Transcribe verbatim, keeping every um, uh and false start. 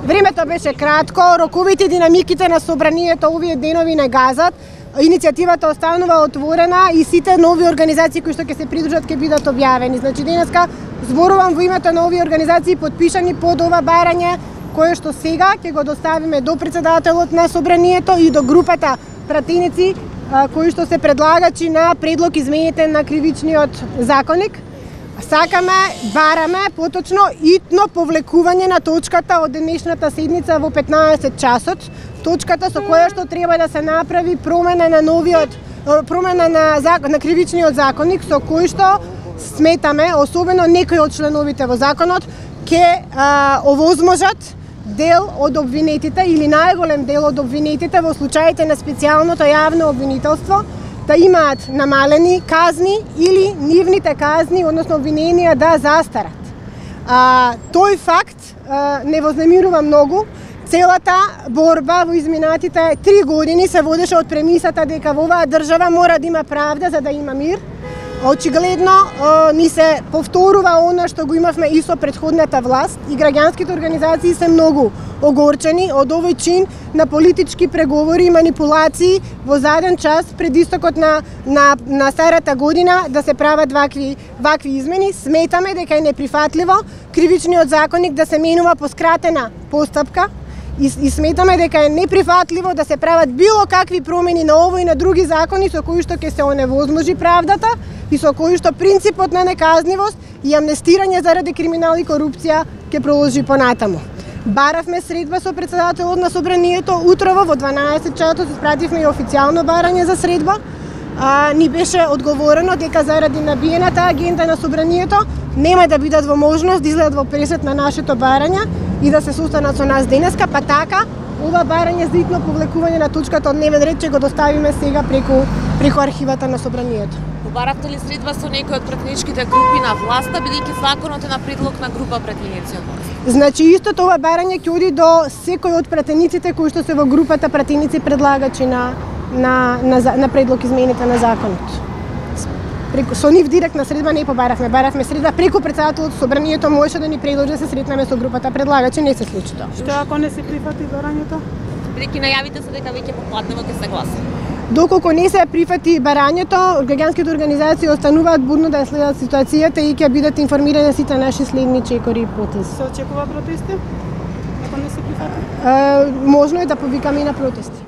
Времето беше кратко, роковите и динамиките на собранието овие денови не газат. Иницијативата останува отворена и сите нови организации кои што ќе се придружат ќе бидат објавени. Значи денеска зборувам во името на овие организации подпишани под ова барање кое што сега ќе го доставиме до председателот на собранието и до групата пратеници кои што се предлагачи на предлог измените на кривичниот законник. Сакаме, бараме поточно итно повлекување на точката од денешната седница во петнаесет часот, точката со која што треба да се направи промена на новиот промена на на кривичниот законник со кој што сметаме, особено некои од членовите во законот, ќе овозможат дел од обвинетите или најголем дел од обвинетите во случаите на специјалното јавно обвинителство да имаат намалени казни или нивните казни, односно обвиненија да застарат. А, тој факт а, не вознемирува многу. Целата борба во изминатите три години се водеше од премисата дека во оваа држава мора да има правда за да има мир. Очигледно ни се повторува она што го имавме и со претходната власт и граѓанските организации се многу огорчени од овој чин на политички преговори и манипулации во заден час пред истокот на, на, на старата година да се прават вакви, вакви измени. Сметаме дека е неприфатливо кривичниот законник да се менува по скратена постапка и, и сметаме дека е неприфатливо да се прават било какви промени на овој и на други закони со кои што ќе се оневозможи правдата и со кои што принципот на неказнивост и амнестирање заради криминал и корупција ќе продолжи понатаму. Баравме средба со председателот на собранието утрово во дванаесет часот, испративме и официјално барање за средба. А, ни беше одговорено дека заради набиената агенда на собранието нема да бидат во можност да излезат во пресет на нашето барање и да се состанат со нас денеска, па така ова барање за итно повлекување на точката од дневен ред ќе го доставиме сега преку преку архивата на собранието. Баравте ли средба со некои од пратеничките групи на власта, бидејќи законот е на предлог на група пратеници од власт? Значи истото ова барање ќе оди до секој од пратениците кои што се во групата пратеници предлагачи на на на, на предлог измените на законот. Преку со нив директна средба не побаравме, баравме средба преку председателот собранието можеше да ни предложи да се сретнеме со групата предлагачи, не се случи тоа. Што ако не се прифати барањето? Бидејќи најавите се дека веќе попладнево ќе се гласа. Доколку не се прифати барањето, граѓанските организации остануваат будно да следат ситуацијата и ќе бидат информирани сите наши следни чекори и потези. Се очекува протести? Ако не се прифати? Е, можно е да повикаме и на протести.